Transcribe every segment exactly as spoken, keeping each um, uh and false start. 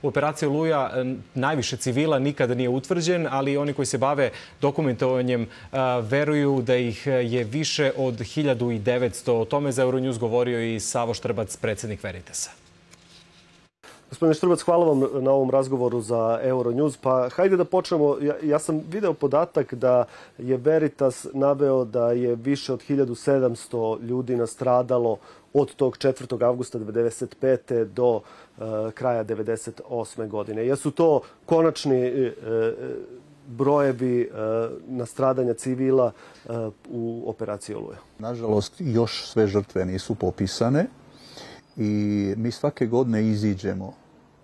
U operaciji Oluja najviše civila nikada nije utvrđen, ali oni koji se bave dokumentovanjem veruju da ih je više od hiljadu devetsto. O tome za Euronews govorio i Savo Štrbac, predsjednik Veritasa. Gospodine Štrbac, hvala vam na ovom razgovoru za Euronews. Pa hajde da počnemo. Ja, ja sam video podatak da je Veritas naveo da je više od hiljadu sedamsto ljudi nastradalo od tog četvrtog avgusta devedeset pete do uh, kraja devedeset osme godine. Jesu to konačni uh, brojevi uh, nastradanja civila uh, u operaciji Oluja? Nažalost, još sve žrtve nisu popisane i mi svake godine iziđemo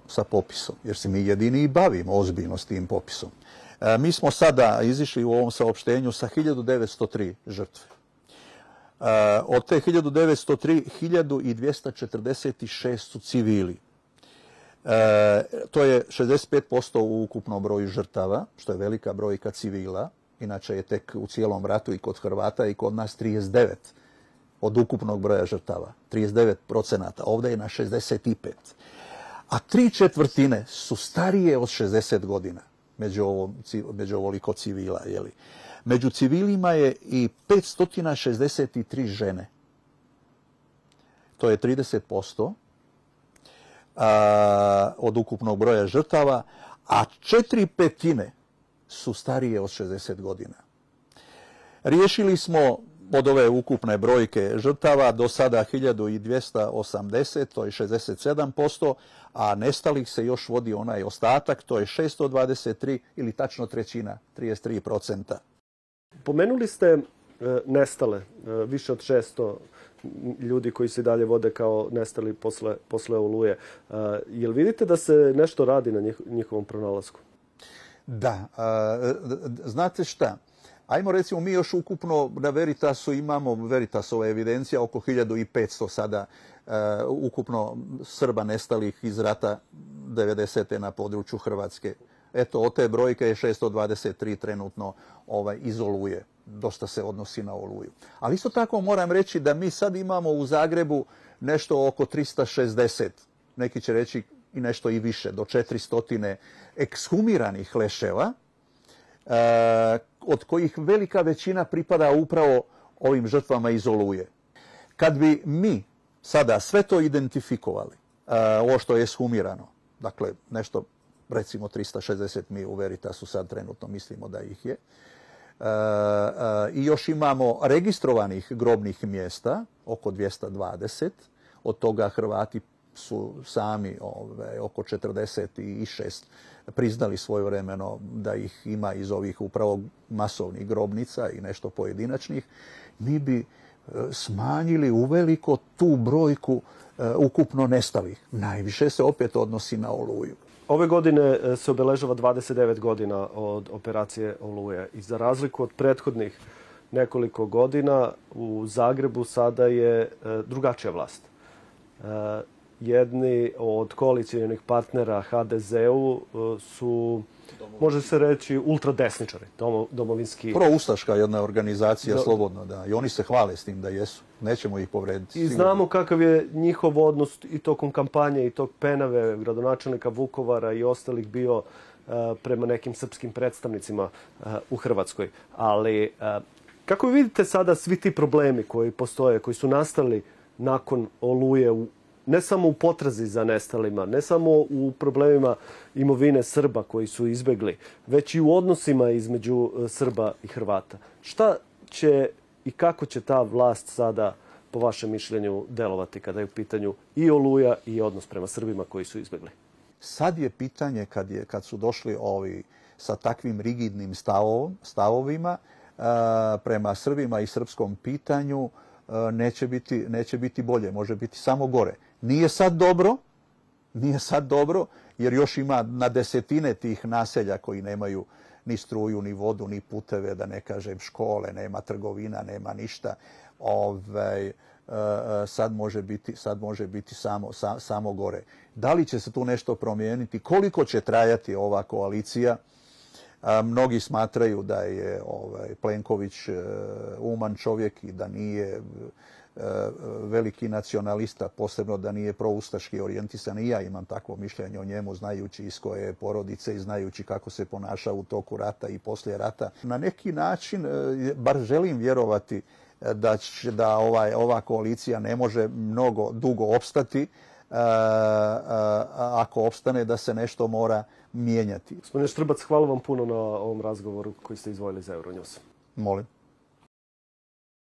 sa popisom, jer se mi jedini i bavimo ozbiljno s tim popisom. E, mi smo sada izišli u ovom saopštenju sa hiljadu devetsto tri žrtve. E, od te hiljadu devetsto tri, hiljadu dvjesto četrdeset šest su civili. E, to je šezdeset pet posto u ukupnom broju žrtava, što je velika brojka civila. Inače je tek u cijelom ratu i kod Hrvata i kod nas trideset devet od ukupnog broja žrtava. trideset devet procenata. Ovdje je na šezdeset pet. A tri četvrtine su starije od šezdeset godina među, ovom, među ovoliko civila. Jeli. Među civilima je i petsto šezdeset tri žene. To je trideset posto a, od ukupnog broja žrtava, a četiri petine su starije od šezdeset godina. Riješili smo od ove ukupne brojke žrtava do sada hiljadu dvjesto osamdeset, to je šezdeset sedam posto, a nestalih se još vodi onaj ostatak, to je šesto dvadeset tri ili tačno trećina, trideset tri procenta. Pomenuli ste e, nestale, e, više od šesto ljudi koji se dalje vode kao nestali posle, posle Oluje. E, jel vidite da se nešto radi na njih, njihovom pronalasku? Da, a, znate šta? Ajmo recimo, mi još ukupno na Veritasu imamo, Veritasova evidencija oko hiljadu petsto sada uh, ukupno Srba nestalih iz rata devedesete na području Hrvatske. Eto, od te brojke je šesto dvadeset tri trenutno ovaj, iz Oluje. Dosta se odnosi na Oluju. Ali isto tako moram reći da mi sad imamo u Zagrebu nešto oko tristo šezdeset, neki će reći i nešto i više, do četiristo ekshumiranih leševa, Uh, od kojih velika većina pripada upravo ovim žrtvama iz Oluje. Kad bi mi sada sve to identifikovali, uh, ovo što je ekshumirano, dakle nešto recimo tristo šezdeset mi u Veritasu sad trenutno mislimo da ih je, uh, uh, i još imamo registrovanih grobnih mjesta, oko dvjesto dvadeset, od toga Hrvati su sami ove, oko četrdeset šest priznali svojevremeno da ih ima iz ovih upravo masovnih grobnica i nešto pojedinačnih, mi bi e, smanjili uveliko tu brojku e, ukupno nestalih. Najviše se opet odnosi na Oluju. Ove godine se obeležava dvadeset devet godina od operacije Oluje i za razliku od prethodnih nekoliko godina u Zagrebu sada je e, drugačija vlast. E, Jedni od koalicijonih partnera ha de zeu su, može se reći, ultradesničari, domo, domovinski... Proustaška jedna organizacija, Do... slobodno, da. I oni se hvale s tim da jesu. Nećemo ih povrediti. I znamo kakav je njihov odnos i tokom kampanje i tog Penave, gradonačelnika Vukovara i ostalih bio uh, prema nekim srpskim predstavnicima uh, u Hrvatskoj. Ali uh, kako vidite sada svi ti problemi koji postoje, koji su nastali nakon Oluje u ne samo u potrazi za nestalima, ne samo u problemima imovine Srba koji su izbjegli, već i u odnosima između Srba i Hrvata. Šta će i kako će ta vlast sada, po vašem mišljenju, delovati kada je u pitanju i Oluja i odnos prema Srbima koji su izbjegli? Sad je pitanje, kad, je, kad su došli ovi sa takvim rigidnim stavom, stavovima uh, prema Srbima i srpskom pitanju, uh, neće biti, neće biti bolje, može biti samo gore. Nije sad dobro, nije sad dobro, jer još ima na desetine tih naselja koji nemaju ni struju, ni vodu, ni puteve, da ne kažem škole, nema trgovina, nema ništa. Ove, sad može biti, sad može biti samo, sa, samo gore. Da li će se tu nešto promijeniti? Koliko će trajati ova koalicija? A, mnogi smatraju da je ovaj, Plenković uman čovjek i da nije veliki nacionalista, posebno da nije proustaški orijentisan. I ja imam takvo mišljenje o njemu, znajući iz koje je porodice i znajući kako se ponaša u toku rata i poslije rata. Na neki način, bar želim vjerovati da, će, da ovaj, ova koalicija ne može mnogo dugo opstati. A, a, ako opstane, da se nešto mora mijenjati. Gospodine Štrbac, hvala vam puno na ovom razgovoru koji ste izdvojili za Euronews. Molim.